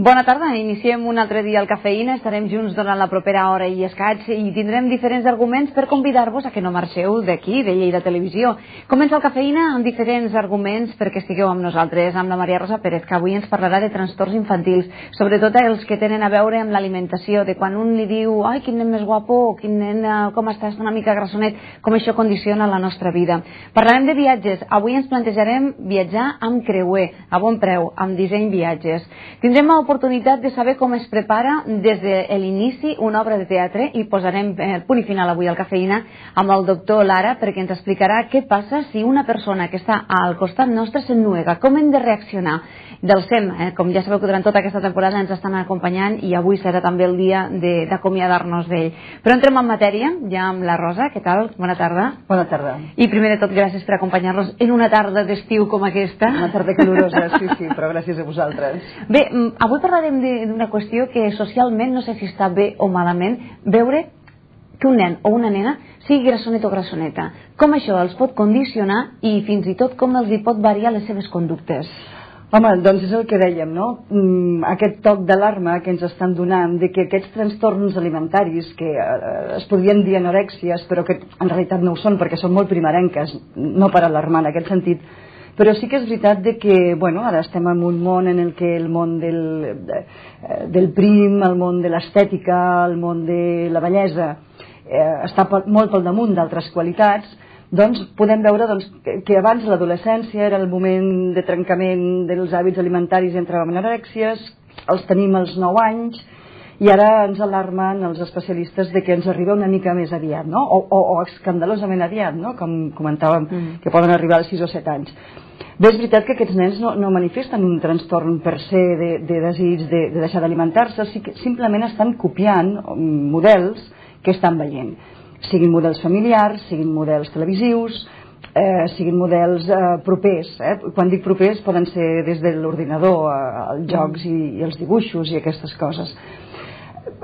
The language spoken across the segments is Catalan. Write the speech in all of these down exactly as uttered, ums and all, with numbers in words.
Bona tarda, iniciem un altre dia al Cafeïna, estarem junts durant la propera hora i escaig i tindrem diferents arguments per convidar-vos a que no marxeu d'aquí, de Lleida Televisió. Comença el Cafeïna amb diferents arguments perquè estigueu amb nosaltres, amb la Maria Rosa Pérez, que avui ens parlarà de trastorns infantils, sobretot els que tenen a veure amb l'alimentació, de quan un li diu, ai, quin nen més guapo, quin nen, com estàs, una mica grassonet, com això condiciona la nostra vida. Parlarem de viatges, avui ens plantejarem viatjar amb creuer, a bon preu, amb disseny viatges. Tindrem l'oportunitat de saber com es prepara des de l'inici una obra de teatre i posarem el punt i final avui al Cafeïna amb el doctor Lara perquè ens explicarà què passa si una persona que està al costat nostre s'ennuega, com hem de reaccionar. Del SEM, eh, com ja sabeu que durant tota aquesta temporada ens estan acompanyant i avui serà també el dia d'acomiadar-nos d'ell. Però entrem en matèria, ja amb la Rosa, què tal? Bona tarda. Bona tarda. I primer de tot, gràcies per acompanyar-nos en una tarda d'estiu com aquesta. Una tarda calorosa, sí, sí, però gràcies a vosaltres. Bé, avui parlarem d'una qüestió que socialment no sé si està bé o malament, veure que un nen o una nena sigui grassonet o grassoneta. Com això els pot condicionar i fins i tot com els hi pot variar les seves conductes. Home, doncs és el que dèiem, no? Aquest toc d'alarma que ens estan donant de que aquests trastorns alimentaris, que es podrien dir anorèxies, però que en realitat no ho són perquè són molt primerenques, no per alarmar en aquest sentit, però sí que és veritat de que, bueno, ara estem en un món en el que el món del, del prim, el món de l'estètica, el món de la bellesa eh, està molt pel damunt d'altres qualitats. Doncs podem veure doncs, que abans l'adolescència era el moment de trencament dels hàbits alimentaris entre anorèxies, els tenim als nou anys i ara ens alarmen els especialistes de que ens arriba una mica més aviat, no? o, o, o escandalosament aviat, no? Com comentàvem, mm. que poden arribar als sis o set anys. Bé, és veritat que aquests nens no, no manifesten un trastorn per se de, de desig de, de deixar d'alimentar-se, simplement estan copiant models que estan veient. Siguin models familiars, siguin models televisius, eh, siguin models eh, propers. Eh? Quan dic propers poden ser des de l'ordinador als jocs i, i els dibuixos i aquestes coses.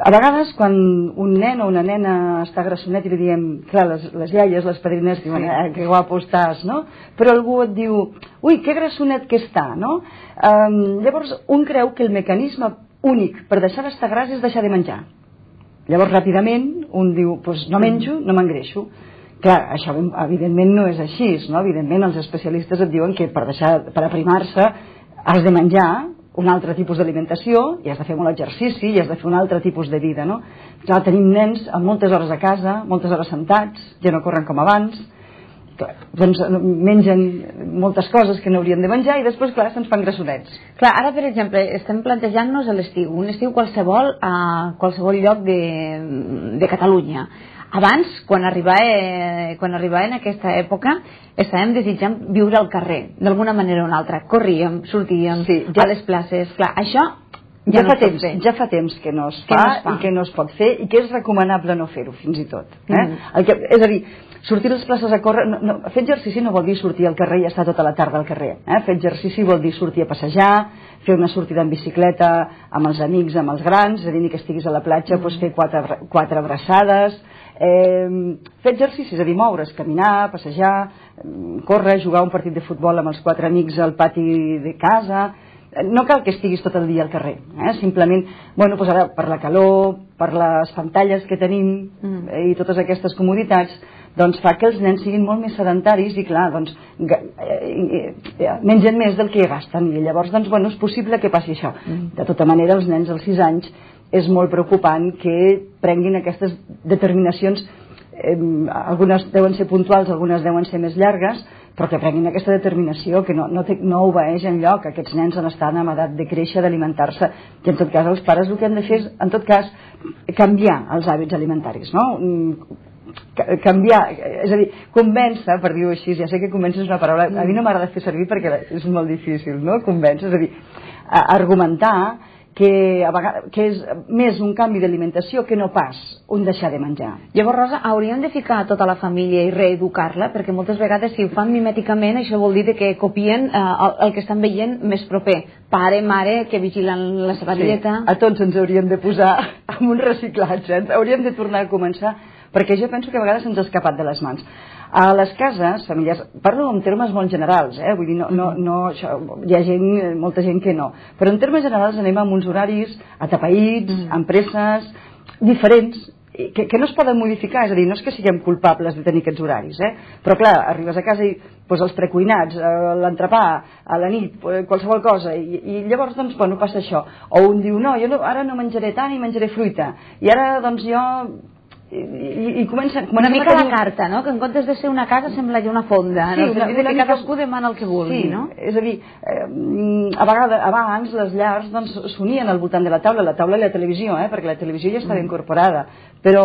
A vegades quan un nen o una nena està grassonet i li diem, clar, les, les iaies, les padrines diuen, eh, que guapo estàs, no? Però algú et diu, ui, que grassonet que està, no? Um, llavors un creu que el mecanisme únic per deixar d'estar gras és deixar de menjar. Llavors, ràpidament, un diu, doncs no menjo, no m'engreixo. Clar, això evidentment no és així, no? Evidentment els especialistes et diuen que per deixar, per aprimar-se has de menjar un altre tipus d'alimentació i has de fer molt exercici i has de fer un altre tipus de vida, no? Clar, tenim nens amb moltes hores a casa, moltes hores sentats, ja no corren com abans, clar, doncs mengen moltes coses que no haurien de menjar i després, clar, se'ns fan grassonets. Clar, ara, per exemple, estem plantejant-nos l'estiu, un estiu qualsevol a qualsevol lloc de, de Catalunya. Abans, quan arribava, quan arribava en aquesta època, estàvem desitjant viure al carrer, d'alguna manera o una altra. Corríem, sortíem sí, ja, a les places. Clar, això ja, ja, no fa temps, ja fa temps que no es fa, que no es fa i que no es pot fer i que és recomanable no fer-ho, fins i tot. Eh? Mm. El que, és a dir, sortir a les places a córrer, no, no, fer exercici no vol dir sortir al carrer i estar tota la tarda al carrer. Eh? Fer exercici vol dir sortir a passejar, fer una sortida en bicicleta amb els amics, amb els grans, és a dir, ni que estiguis a la platja, mm. doncs fer quatre, quatre abraçades, eh, fer exercici, és a dir, moure's, caminar, passejar, córrer, jugar un partit de futbol amb els quatre amics al pati de casa. No cal que estiguis tot el dia al carrer, eh? Simplement, bueno, doncs ara per la calor, per les pantalles que tenim mm. eh, i totes aquestes comoditats, doncs fa que els nens siguin molt més sedentaris i clar, doncs eh, eh, mengen més del que gasten i llavors, doncs, bueno, és possible que passi això. Mm. De tota manera, els nens als sis anys és molt preocupant que prenguin aquestes determinacions, eh, algunes deuen ser puntuals, algunes deuen ser més llargues, però que prenguin aquesta determinació, que no, no, té, no obeeix enlloc. Aquests nens han estat en edat de créixer, d'alimentar-se, i en tot cas els pares el que han de fer és, en tot cas, canviar els hàbits alimentaris, no? Canviar, és a dir, convèncer, per dir-ho així, ja sé que convèncer és una paraula, a mi no m'agrada fer servir perquè és molt difícil, no? Convèncer, és a dir, argumentar que, a vegades, que és més un canvi d'alimentació que no pas un deixar de menjar. Llavors, Rosa, hauríem de ficar tota la família i reeducar-la, perquè moltes vegades si ho fan mimèticament això vol dir que copien eh, el, el que estan veient més proper. Pare, mare, que vigilen la seva dieta... Sí, a tots ens hauríem de posar en un reciclatge, hauríem de tornar a començar, perquè jo penso que a vegades ens ha escapat de les mans. A les cases familiars, parlo en termes molt generals, eh? Vull dir, no, no, no, això, hi ha gent, molta gent que no, però en termes generals anem amb uns horaris atapeïts, mm. amb presses, diferents, que, que no es poden modificar, és a dir, no és que siguem culpables de tenir aquests horaris, eh? Però clar, arribes a casa i doncs, els precuinats, l'entrepà, a la nit, qualsevol cosa, i, i llavors doncs, bueno, passa això. O un diu, no, jo no, ara no menjaré tant i menjaré fruita, i ara doncs jo... I, i, i comença, una mica tenir... la carta, no? Que en comptes de ser una casa sembla ja una fonda, sí, no? Una, una que mica... cadascú demana el que vulgui, sí, no? És a dir, eh, a vegades, abans les llars doncs, s'unien al voltant de la taula, la taula i la televisió, eh? Perquè la televisió ja estava mm. incorporada, però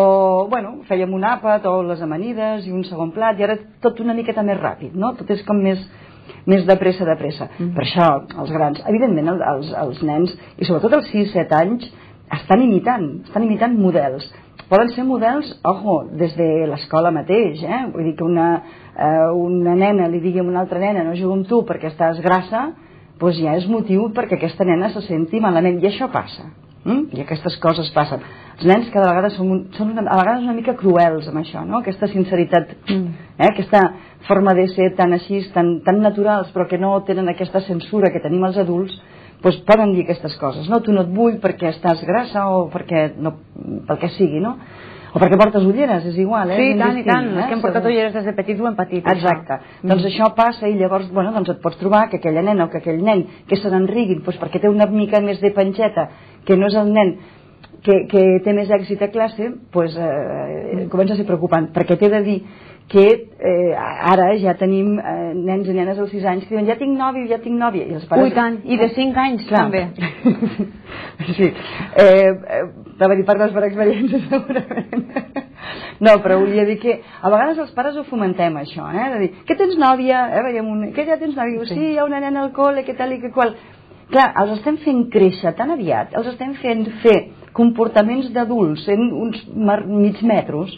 bueno, fèiem un àpat o les amanides i un segon plat, i ara tot una miqueta més ràpid, no? Tot és com més més de pressa, de pressa. Mm. Per això, els grans, evidentment els, els nens, i sobretot els sis set anys, estan imitant, estan imitant models. Poden ser models, ojo, des de l'escola mateix, eh? Vull dir que una, eh, una nena li digui a una altra nena no jugo amb tu perquè estàs grassa, doncs ja és motiu perquè aquesta nena se senti malament, i això passa, mm? I aquestes coses passen. Els nens cada vegada són, un, són una, a vegades una mica cruels amb això, no? Aquesta sinceritat, mm. eh? Aquesta forma de ser tan així, tan, tan naturals, però que no tenen aquesta censura que tenim els adults, doncs poden dir aquestes coses, no? Tu no et vull perquè estàs grassa o perquè no, pel que sigui, no? O perquè portes ulleres, és igual, eh? Sí, i tant, i tant, eh? És que hem portat ulleres des de petits o hem patit. Exacte, això. Doncs mm. això passa i llavors, bueno, doncs et pots trobar que aquella nena o que aquell nen que se n'enriguin, doncs perquè té una mica més de panxeta, que no és el nen que, que té més èxit a classe, doncs eh, comença a ser preocupant, perquè t'he de dir que eh, ara ja tenim eh, nens i nenes als sis anys que diuen ja tinc nòvio, ja tinc nòvia. I els pares... Ui, tant, i de cinc anys clar. També. Sí, eh, eh, dir, parles per experiència segurament. No, però volia dir que a vegades els pares ho fomentem això, eh? De dir, que tens nòvia? Eh? Veiem un... Que ja tens nòvia? Sí. sí, hi ha una nena al col·le, que tal i que qual. Clar, els estem fent créixer tan aviat, els estem fent fer comportaments d'adults en uns mig metros,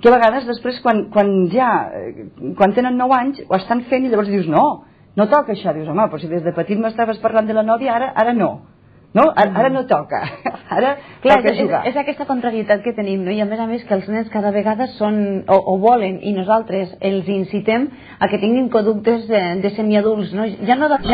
que a vegades després quan, quan ja quan tenen nou anys ho estan fent i llavors dius no, no toca això, dius home, però si des de petit m'estaves parlant de la nòvia, ara, ara no no, ara, ara no toca ara clar, toca és, jugar és, és aquesta contrarietat que tenim, no? I a més a més que els nens cada vegada són o, o volen i nosaltres els incitem a que tinguin conductes de, de semiadults, no? Ja no, ja no